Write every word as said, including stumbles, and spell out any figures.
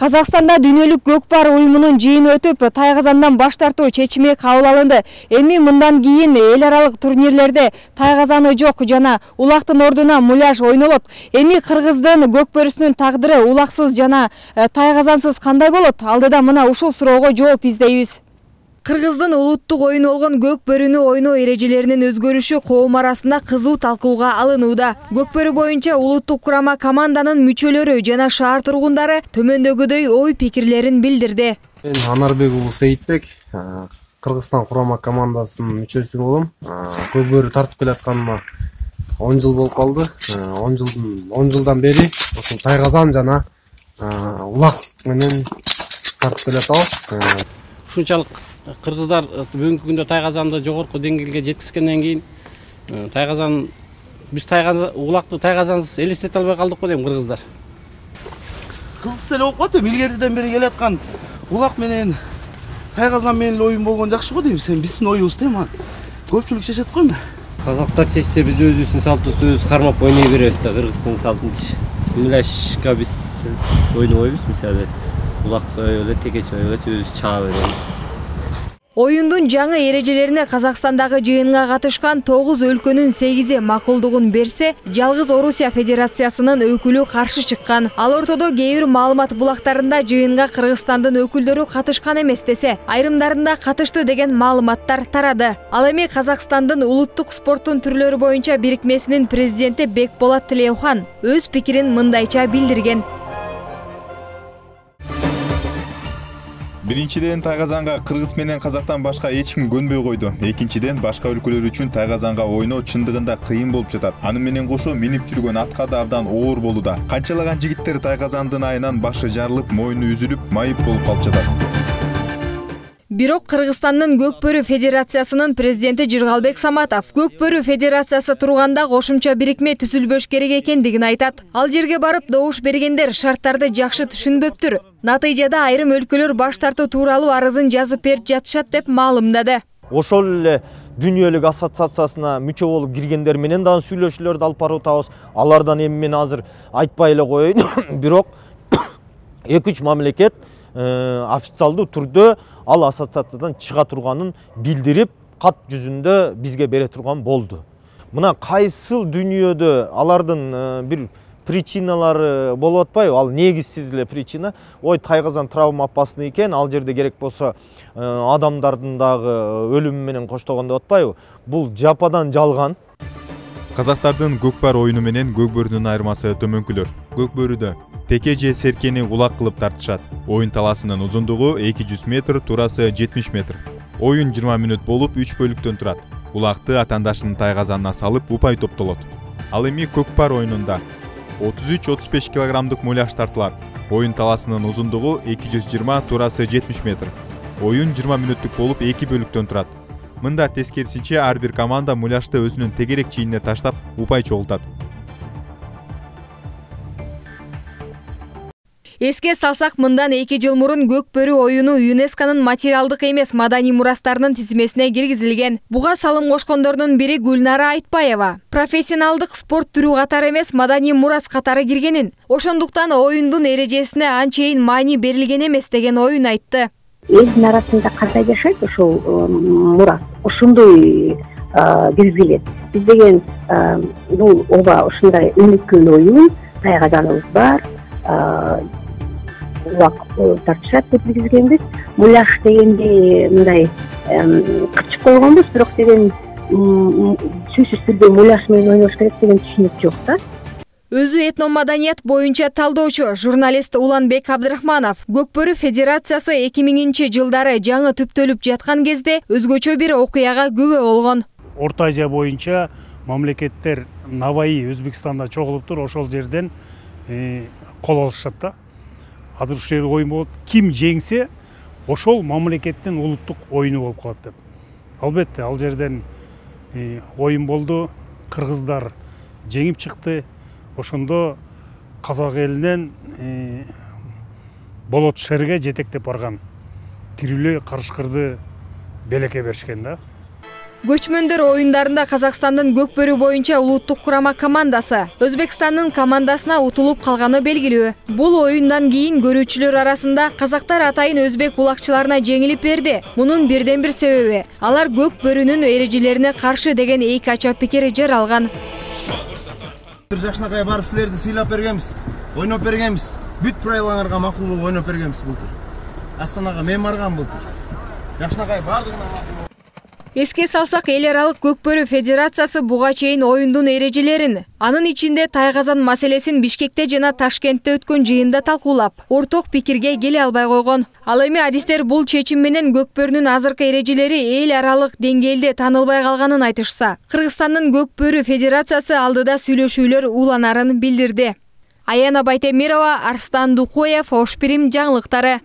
Казакстанда дүйнөлүк көкпар уюмунун жыйыны өтүп, тайгазандан баш тартуу чечими кабыл алынды. Эми мындан кийин эл аралык турнирлерде тайгазаны жок жана улактын ордуна муляж ойнолот. Эми кыргыздын көкбөрүсүнүн тагдыры улаксыз жана тайгазансыз кандай болот? Алдыда мына ушул суроого жооп издейбиз. Кыргыздын улуттук оюну болгон көкбөрүнү ойноо эрежелеринин өзгөрүшү коом арасында кызуу талкууга алынууда. Көкбөрү боюнча улуттук курама команданын мүчөлөрү жана шаар тургундары төмөндөгүдөй ой пикирлерин билдирди. Мен Анарбек уулу Сейитбек, Кыргызстан курама командасынын мүчөсү болом. Көкбөрү тартып келатканыма он жыл болуп калды. он жылдын он жылдан бери ушул тайгазан жана улак менен тартып келатабыз. Ушунчалык кыргыздар бүгүнкү күндө тайгазанды жогорку деңгээлге жеткизгенден кийин тайгазан биз тайгазан улакты тайгазансыз элестете албай калдык го дейм кыргыздар. Кызык эле болуп калат. Илгертиден бери келаткан улак менен тайгазан менен эле оюн болгон жакшы го дейм. Сен биздин оюбуз дейм. Көпчүлүк чечет го эми. Казактар чечсе биз өзүбүздүн салтыбызды өзүбүз кармап ойной беребиз да, Кыргыздын салтын. Муляжга биз ойнобойбуз, мисалы улак эле текеч ойгоч өзүбүз чаба беребиз. Оюндун жаңы эрежелерине Казакстандагы жыйынга катышкан тогуз өлкөнүн сегизи макулдугун берсе, жалгыз Орусия Федерациясынын өкүлү каршы чыккан. Ал ортодо кээ бир маалымат булактарында жыйынга Кыргызстандын өкүлдөрү катышкан эмес десе, айрымдарында катышты деген маалыматтар тарады. Ал эми Казакстандын улуттук спорттун түрлөрү боюнча бирикмесинин президенти Бекболот Тилеухан өз пикирин мындайча билдирген. Биринчиден, тайгазанга кыргыз менен казактан башка эч ким көнбөй койду. Экинчиден, башка өлкөлөр үчүн тайгазанга ойноо чындыгында кыйын болуп жатат. Аны менен кошо минип жүргөн атка да абдан оор болууда. Канчалаган жигиттер тайгазандын айынан башы жарылып, мойну үзүлүп, майып болуп калып жатат. Бирок Кыргызстандын Көкбөрү Федерациясынын президенти Жыргалбек Саматов Көкбөрү Федерациясы турганда кошумча бирикме түзүлбөш керек экендигин айтат. Ал жерге барып добуш бергендер шарттарды жакшы түшүнбөптүр. Натыйжада айрым өлкөлөр баш тартуу тууралуу арызын жазып берип жатышат деп маалымдады. Ошол эле дүйнөлүк ассоциациясына мүчө болуп киргендер менен дагы сүйлөшүүлөрдү алып барып атабыз. Алардан эми мен азыр айтпай эле коеюн. Бирок эки үч мамлекет официалдуу түрдө ал ассоциациядан чыга турганын билдирип, кат жүзүндө бизге бере турган болду. Мына кайсыл дүйнөдө алардын бир причиналары болуп атпайбы? Ал негизсиз эле причина. Ой, тайгазан травма опасный экен, ал жерде керек болсо адамдардын дагы өлүмү менен коштогон деп атпайбы? Бул жападан жалган. Казактардын көкпар оюну менен көкбөрүнүн айырмасы төмөнкүлөр. Көкбөрүдө теке же серкени улак кылып тартышат. Оюн таласынын узундугу эки жүз метр, турасы жетимиш метр. Оюн жыйырма мүнөт болуп үч бөлүктөн турат. Улакты атаандашынын тайгазанына салып упай топтолот. Ал эми көкпар оюнунда отуз үч отуз беш килограммдык муляж тартылат. Оюн таласынын узундугу эки жүз жыйырма, турасы жетимиш метр. Оюн жыйырма мүнөттүк болуп эки бөлүктөн турат. Мында тескерисинче ар бир команда муляжды өзүнүн тегерек чийинине таштап упай чогултат. Эске салсак, мындан эки жыл мурун көкбөрү оюну ЮНЕСКОнун материалдык эмес маданий мурастарынын тизмесине киргизилген. Буга салым кошкондордун бири Гүлнара Айтпаева. Профессионалдык спорт түрү катары эмес, маданий мурас катары киргенин, ошондуктан оюндун эрежесине анчейин маани берилген эмес деген оюн айтты. Элдин арасында кандай жашайт ошол мурас, ошондой киргизилет. Биз деген бул ооба ушундай өнүккөн оюн, тайгазаныбыз бар, улак тартышат деп киргизгенбиз. Муляж дегенде мындай кырчык койгонбуз, бирок деген сөзсүз түрдө муляж менен ойнош керек деген түшүнүк жок да. Өзү этномаданият боюнча талдоочу журналист Уланбек Абдрахманов Көкбөрү Федерациясы эки миңинчи жылдары жаңы түптөлүп жаткан кезде өзгөчө бир окуяга күбө болгон. Орто Азия боюнча мамлекеттер Наваи Өзбекстанда чогулуптур, ошол жерден кол алышат да. Азыр ушул жерде оюн болот. Ким жеңсе, ошол мамлекеттин улуттук оюну болуп калат деп. Албетте, ал жерден оюн болду, кыргыздар жеңип чыкты. Ошондо казак элинен Болот шерге жетектеп барган тирүүлө карышкырды белекке беришкен да. Көчмөндөр оюндарында Казакстандын көкбөрү боюнча улуттук курама командасы Өзбекстандын командасына утулуп калганы белгилүү. Бул оюндан кийин көрүүчүлөр арасында казактар атайын өзбек улакчыларына жеңилип берди. Мунун бирден бир себеби алар көкбөрүнүн эрежелерине каршы деген эки ача пикир жаралган. Жакшынакай барып силерди сыйлап бергенбиз, ойноп бергенбиз. Бүт правилаңарга макул болуп ойноп бергенбиз былтыр. Астанага мен баргам былтыр. Жакшынакай бардыгына макул. Эске салсак, эл аралык көкбөрү федерациясы буга чейин оюндун эрежелерин, анын ичинде Тайгазан маселесин Бишкекте жана Ташкентте өткөн жыйында талкуулап, орток пикирге келе албай койгон. Ал эми адистер бул чечим менен көкбөрүнүн азыркы эрежелери эл аралык деңгээлде таанылбай калганын айтышса, Кыргызстандын көкбөрү федерациясы алдыда сүйлөшүүлөр уланарын билдирди. Аяна Байтемирова, Арстан Дукоев, Ош Пирим жаңылыктары.